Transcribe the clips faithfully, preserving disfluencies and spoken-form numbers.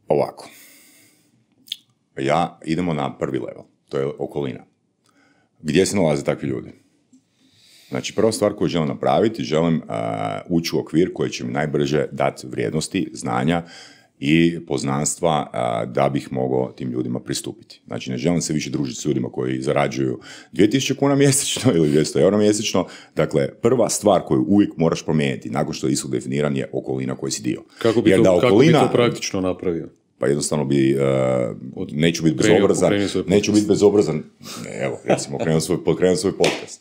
Ovako. Ja idemo na prvi level. To je okolina. Gdje se nalaze takvi ljudi? Znači, prva stvar koju želim napraviti, želim uh, ući u okvir koji će mi najbrže dati vrijednosti, znanja i poznanstva uh, da bih mogao tim ljudima pristupiti. Znači, ne želim se više družiti s ljudima koji zarađuju dvije tisuće kuna mjesečno ili dvjesto eura mjesečno. Dakle, prva stvar koju uvijek moraš promijeniti nakon što je ishod definiran je okolina koji si dio. Kako bi, to, okolina, kako bi to praktično napravio? Pa jednostavno bi, uh, neću biti bezobrazan, neću biti bezobrazan, evo, recimo, pokrenuo svoj, pokrenuo svoj podcast.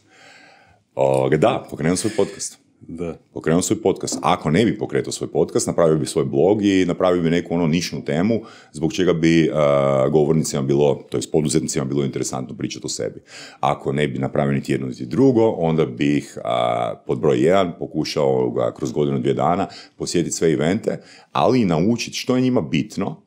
O, da, pokrenuo svoj podcast. Da. Pokrenuo svoj podcast. Ako ne bi pokretao svoj podcast, napravio bi svoj blog i napravio bi neku ono nišnu temu zbog čega bi uh, govornicima bilo, to jest poduzetnicima bilo interesantno pričati o sebi. Ako ne bi napravio niti jedno niti drugo, onda bih uh, pod broj jedan pokušao ga kroz godinu dvije dana posjetiti sve evente, ali i naučiti što je njima bitno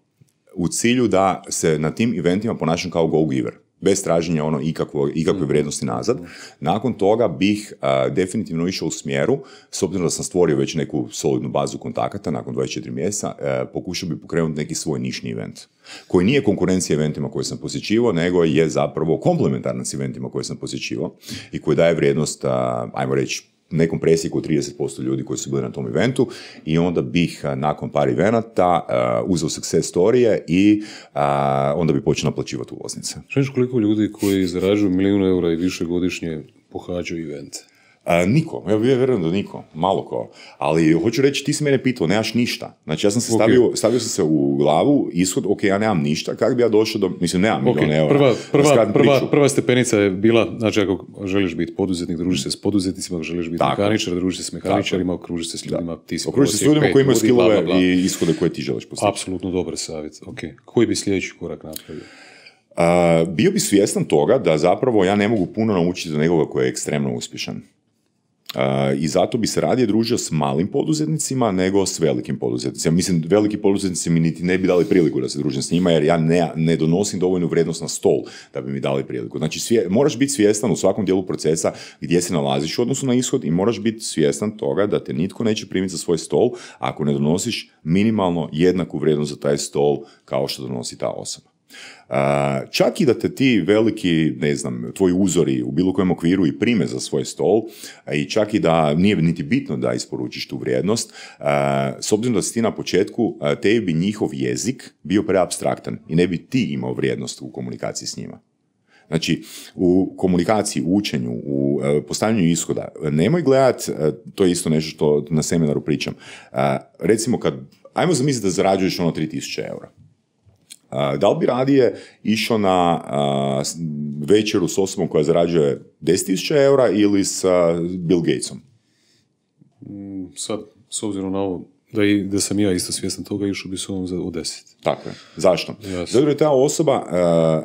u cilju da se na tim eventima ponašam kao go-giver. Bez traženja ono ikakvo, ikakve vrijednosti nazad. Nakon toga bih uh, definitivno išao u smjeru, s obzirom da sam stvorio već neku solidnu bazu kontakata nakon dvadeset četiri mjeseca, uh, pokušao bih pokrenuti neki svoj nišni event, koji nije konkurencija eventima koje sam posjećivao, nego je zapravo komplementaran s eventima koje sam posjećivao i koji daje vrijednost, uh, ajmo reći, nekom presjeku trideset posto ljudi koji su bili na tom eventu i onda bih nakon par evenata uh, uzeo success storije i uh, onda bi počeo naplaćivati ulaznice. Znaš koliko ljudi koji zarađuju milijun eura i više godišnje pohađaju evente? Uh, niko, ja vjerujem da niko, malo ko. Ali hoću reći, ti si mene pitao, nemaš ništa. Znači ja sam se stavio, okay. stavio sam se u glavu, ishod, ok, ja nemam ništa, kako bi ja došao do, mislim, nemam okay. milijun eura. Prva, prva, prva, prva stepenica je bila, znači ako želiš biti poduzetnik, družiš se s poduzetnicima, ako želiš biti tako. Mehaničar, družiš se s mehaničarima, okružiš se s ljudima, da. Ti si okružiš se s ljudima koji imaju skillove i ishode koje ti želiš postići. Apsolutno dobar savjet, ok. Koji bi sljedeći korak napravio? Uh, bio bi svjestan toga da zapravo ja ne mogu puno naučiti do nekoga koji je ekstremno uspješan. Uh, I zato bi se radije družio s malim poduzetnicima nego s velikim poduzetnicima. Mislim, veliki poduzetnici mi niti ne bi dali priliku da se družim s njima, jer ja ne, ne donosim dovoljnu vrijednost na stol da bi mi dali priliku. Znači, svije, moraš biti svjestan u svakom dijelu procesa gdje se nalaziš u odnosu na ishod i moraš biti svjestan toga da te nitko neće primiti za svoj stol ako ne donosiš minimalno jednaku vrijednost za taj stol kao što donosi ta osoba. Uh, čak i da te ti veliki, ne znam, tvoji uzori u bilo kojem okviru i prime za svoj stol i čak i da nije niti bitno da isporučiš tu vrijednost, uh, s obzirom da si ti na početku, uh, tebi bi njihov jezik bio preapstraktan i ne bi ti imao vrijednost u komunikaciji s njima. Znači, u komunikaciji, u učenju, u uh, postavljanju ishoda, nemoj gledat, uh, to je isto nešto što na seminaru pričam, uh, recimo kad, ajmo zamisliti da zarađuješ ono tri tisuće eura. Uh, da li bi radije išao na uh, večeru s osobom koja zarađuje deset tisuća eura ili sa Bill Gatesom? Mm, sad, s obzirom na ovo, da, i, da sam ja isto svjestan toga, išao bi s ovom za u deset. Tako je. Zašto? Yes. Zato je ta osoba uh,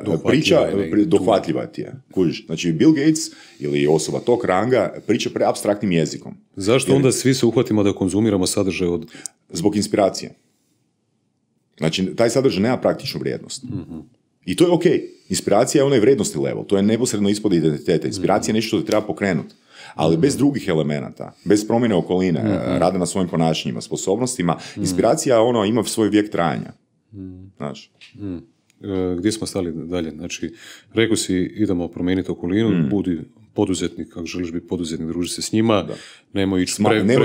dohvatljiva priča, je, pri, dohvatljiva ti je. Kužiš. Znači, Bill Gates ili osoba tog ranga priča preapstraktnim jezikom. Zašto jer, onda svi se uhvatimo da konzumiramo sadržaj od... Zbog inspiracije. Znači, taj sadržaj nema praktičnu vrijednost. Mm-hmm. I to je ok. Inspiracija je onaj vrijednosti level. To je neposredno ispod identiteta. Inspiracija je nešto što te treba pokrenuti. Ali mm-hmm. bez drugih elemenata, bez promjene okoline, mm-hmm. rada na svojim ponašanjima, sposobnostima, mm-hmm. inspiracija ono, ima svoj vijek trajanja. Mm-hmm. Znaš? Mm. E, gdje smo stali dalje? Znači, rekao si, idemo promijeniti okolinu, mm. budi poduzetnik, ako želiš biti poduzetnik, druži se s njima, da. nemoj ići pre, pre,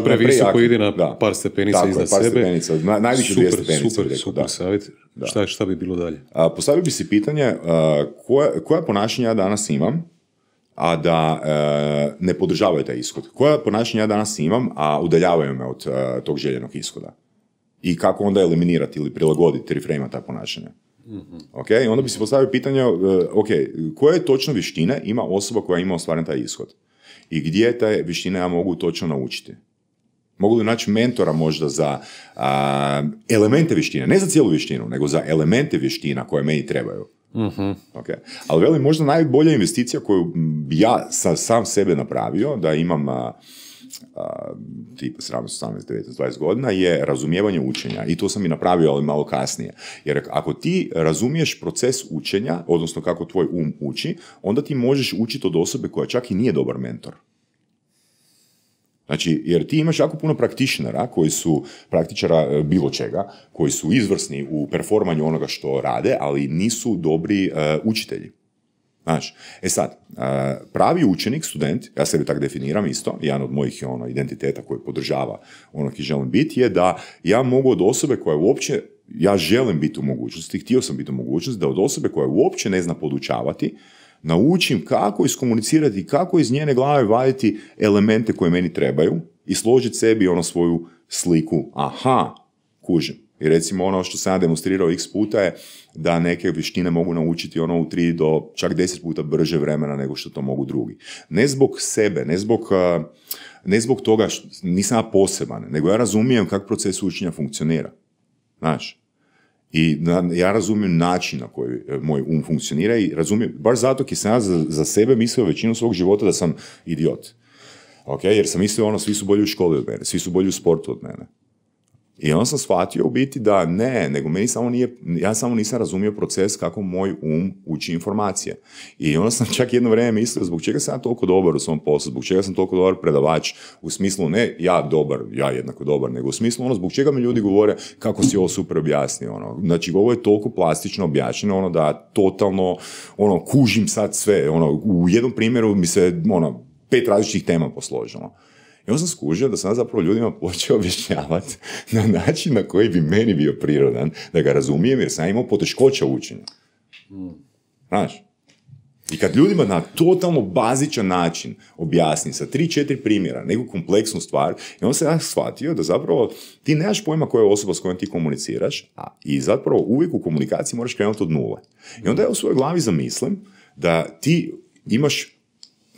pre, previsoko, ide na da. par stepenica tako iznad par sebe. Stepenica, na, najviše dvije stepenice. Super, rekao, super, savjet. Šta, šta bi bilo dalje? A, postavio bi si pitanje, a, koja, koja ponašanja ja danas imam, a da a, ne podržavaju taj ishod? Koja ponašanja ja danas imam, a udaljavaju me od a, tog željenog ishoda? I kako onda eliminirati ili prilagoditi, reframe ta ponašanja? Mm-hmm. Okay? Onda bi se postavio pitanje, uh, ok, koje točno vještine ima osoba koja ima ostvaren taj ishod? I gdje te vještine ja mogu točno naučiti? Mogu li naći mentora možda za uh, elemente vještine, ne za cijelu vještinu, nego za elemente vještina koje meni trebaju? Mm-hmm. Okay. Ali velim, možda najbolja investicija koju bi ja sa, sam sebe napravio, da imam uh, Uh, tipa sedamnaest, osamnaest, devetnaest, dvadeset godina, je razumijevanje učenja. I to sam i napravio, ali malo kasnije. Jer ako ti razumiješ proces učenja, odnosno kako tvoj um uči, onda ti možeš učiti od osobe koja čak i nije dobar mentor. Znači, jer ti imaš jako puno praktičnera koji su, praktičara bilo čega, koji su izvrsni u performanju onoga što rade, ali nisu dobri uh, učitelji. Znači, e sad, uh, pravi učenik, student, ja sebi tako definiram isto, jedan od mojih ono, identiteta koji podržava ono ki želim biti, je da ja mogu od osobe koja uopće, ja želim biti u mogućnosti, htio sam biti u mogućnosti, da od osobe koja uopće ne zna podučavati, naučim kako iskomunicirati, kako iz njene glave vaditi elemente koje meni trebaju i složiti sebi ono svoju sliku. Aha, kužim. I recimo ono što sam ja demonstrirao x puta je da neke vještine mogu naučiti ono u tri do čak deset puta brže vremena nego što to mogu drugi. Ne zbog sebe, ne zbog, ne zbog toga što nisam ja poseban, nego ja razumijem kako proces učenja funkcionira. Znaš? I ja razumijem način na koji moj um funkcionira i razumijem, baš zato ki sam ja za, za sebe mislio većinu svog života da sam idiot. Okay? Jer sam mislio ono, svi su bolji u školi od mene, svi su bolji u sportu od mene. I onda sam shvatio u biti da ne, nego meni samo nije, ja samo nisam razumio proces kako moj um uči informacije. I onda sam čak jedno vrijeme mislio zbog čega sam ja toliko dobar u svom poslu, zbog čega sam toliko dobar predavač, u smislu ne ja dobar, ja jednako dobar, nego u smislu ono zbog čega mi ljudi govore kako si ovo super objasnio. Ono. Znači ovo je toliko plastično objašnjeno ono, da totalno ono, kužim sad sve. Ono, u jednom primjeru mi se ono, pet različitih tema posložilo. I onda sam skužio da sam ja zapravo ljudima počeo objašnjavati na način na koji bi meni bio prirodan, da ga razumijem, jer sam imao poteškoća u učenju. Znaš? I kad ljudima na totalno bazičan način objasni sa tri, četiri primjera neku kompleksnu stvar, i onda sam ja shvatio da zapravo ti nemaš pojma koja je osoba s kojom ti komuniciraš, a i zapravo uvijek u komunikaciji moraš krenuti od nule. I onda ja u svojoj glavi zamislim da ti imaš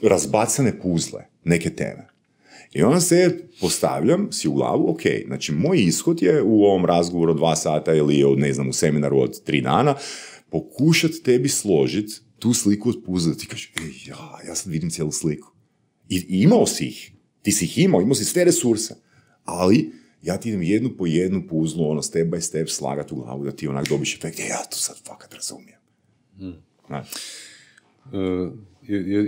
razbacane puzle, neke teme. I onda se postavljam si u glavu, ok, znači moj ishod je u ovom razgovoru od dva sata ili od, ne znam, u seminaru od tri dana, pokušati tebi složiti tu sliku od puzle, da ti kažeš, ej, ja, ja sad vidim cijelu sliku. I, I imao si ih, ti si ih imao, imao si sve resurse, ali ja ti idem jednu po jednu puzlu, ono, step by step slagati u glavu, da ti onak dobiš efekt, ja to sad fakat razumijem. Hmm. Znači. Uh,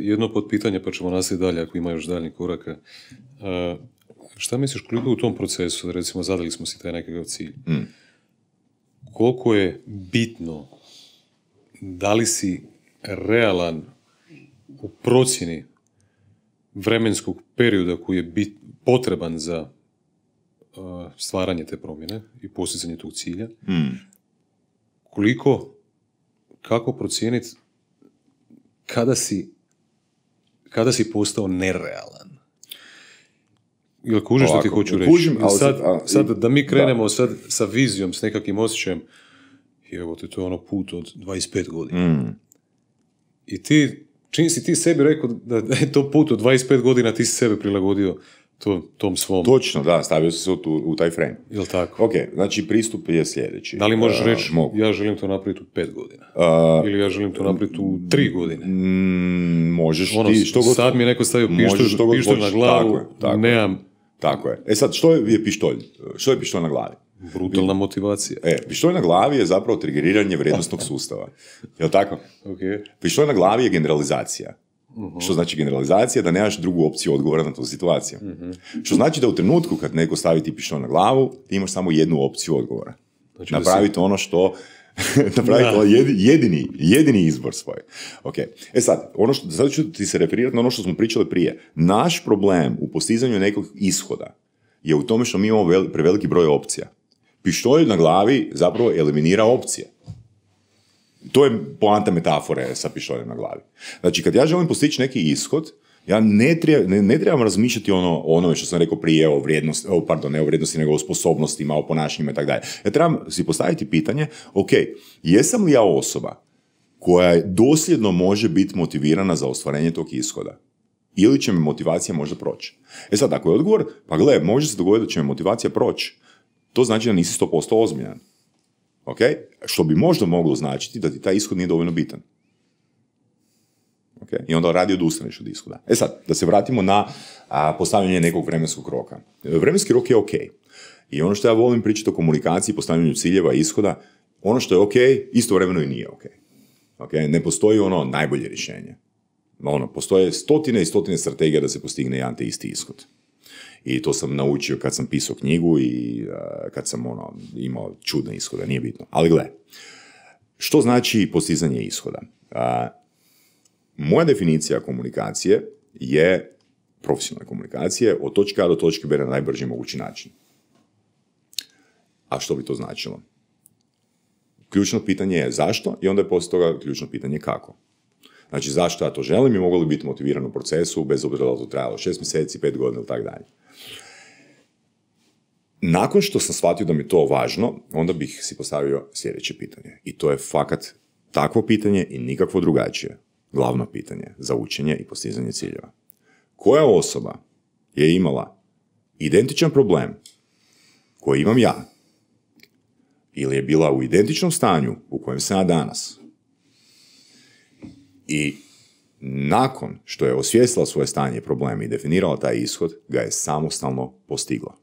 jedno potpitanje, pa ćemo nastaviti dalje ako ima još daljnjih koraka. Uh, šta misliš koliko u tom procesu, recimo zadali smo si taj nekakav cilj, mm. koliko je bitno da li si realan u procjeni vremenskog perioda koji je bit, potreban za uh, stvaranje te promjene i postizanje tog cilja, mm. koliko, kako procijeniti kada si, kada si postao nerealan. Jel kužiš što ti hoću reći? Kužim, ali sad, a, sad da mi krenemo da. sad sa vizijom, s nekakvim osjećajem, evo te, to je ono put od dvadeset pet godina. Mm. I ti, čini si ti sebi rekao da je to put od dvadeset pet godina, ti si sebe prilagodio to, tom svom. Točno, da, stavio si se u, u taj frame. Jel tako? Ok, znači pristup je sljedeći. Da li možeš uh, reći, mogu. ja želim to napraviti u pet godina? Uh, Ili ja želim to napraviti u tri godine? Mm, možeš ono, ti što god... Sad mi je neko stavio pištolj, pištolj na glavu, tako je, tako nemam... Tako je. E sad, što je pištolj? Što je pištolj na glavi? Brutalna motivacija. E, pištolj na glavi je zapravo triggeriranje vrijednosnog sustava. Jel' tako? Okay. Pištolj na glavi je generalizacija. Uh-huh. Što znači generalizacija? Da nemaš drugu opciju odgovora na tu situaciju. Uh-huh. Što znači da u trenutku kad neko stavi ti pištolj na glavu, ti imaš samo jednu opciju odgovora. Znači napraviti si... ono što... napraviti ono jedini, jedini izbor svoj. Okay. E sad, ono što, sad ću ti se referirati na ono što smo pričali prije. Naš problem u postizanju nekog ishoda je u tome što mi imamo vel, preveliki broj opcija. Pištolj na glavi zapravo eliminira opcije. To je poanta metafore sa pištoljem na glavi. Znači, kad ja želim postići neki ishod, ja ne, treba, ne, ne trebam razmišljati ono, onome što sam rekao prije o vrijednosti, o, pardon, ne o vrijednosti, nego o sposobnostima, o ponašanjima i tako dalje. Ja trebam si postaviti pitanje, ok, jesam li ja osoba koja dosljedno može biti motivirana za ostvarenje tog ishoda? Ili će me motivacija možda proći? E sad, ako je odgovor, pa gle, može se dogoditi da će me motivacija proći. To znači da nisi sto posto ozbiljan. Okay? Što bi možda moglo značiti da ti taj ishod nije dovoljno bitan. Okay? I onda radi odustaneš od ishoda. E sad, da se vratimo na a, postavljanje nekog vremenskog roka. Vremenski rok je ok. I ono što ja volim pričati o komunikaciji, postavljanju ciljeva i ishoda, ono što je ok, istovremeno i nije ok. Okay? Ne postoji ono najbolje rješenje. Ono, postoje stotine i stotine strategija da se postigne jedan te isti ishod. I to sam naučio kad sam pisao knjigu i uh, kad sam ono, imao čudne ishode, nije bitno. Ali gle, što znači postizanje ishoda? Uh, moja definicija komunikacije je profesionalne komunikacije od točke A do točke B na najbrži mogući način. A što bi to značilo? Ključno pitanje je zašto i onda je poslije toga ključno pitanje kako. Znači zašto ja to želim i mogu li biti motiviran u procesu bez obzira da to trajalo šest mjeseci, pet godina ili tako dalje. Nakon što sam shvatio da mi je to važno, onda bih si postavio sljedeće pitanje. I to je fakat takvo pitanje i nikakvo drugačije. Glavno pitanje za učenje i postizanje ciljeva. Koja osoba je imala identičan problem koji imam ja ili je bila u identičnom stanju u kojem sam ja danas i nakon što je osvijestila svoje stanje i probleme i definirala taj ishod, ga je samostalno postigla.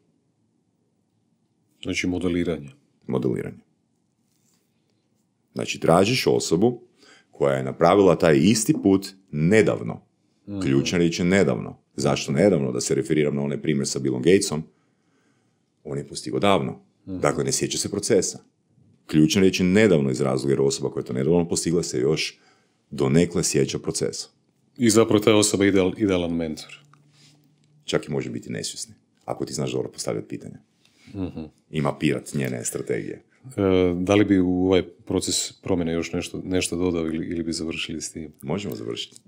Znači modeliranje. Modeliranje. Znači tražiš osobu koja je napravila taj isti put nedavno. Mm. Ključna riječ je nedavno. Zašto nedavno? Da se referiram na onaj primjer sa Billom Gatesom. On je postigao davno. Mm. Dakle, ne sjeća se procesa. Ključna riječ je nedavno iz razloga jer osoba koja je to nedavno postigla se još donekle sjeća procesa. I zapravo ta osoba je ideal, idealan mentor. Čak i može biti nesvjesni. Ako ti znaš dobro postavljati pitanja. Mm-hmm. I mapirat njene strategije. E, da li bi u ovaj proces promjene još nešto, nešto dodao ili, ili bi završili s tim? Možemo završiti.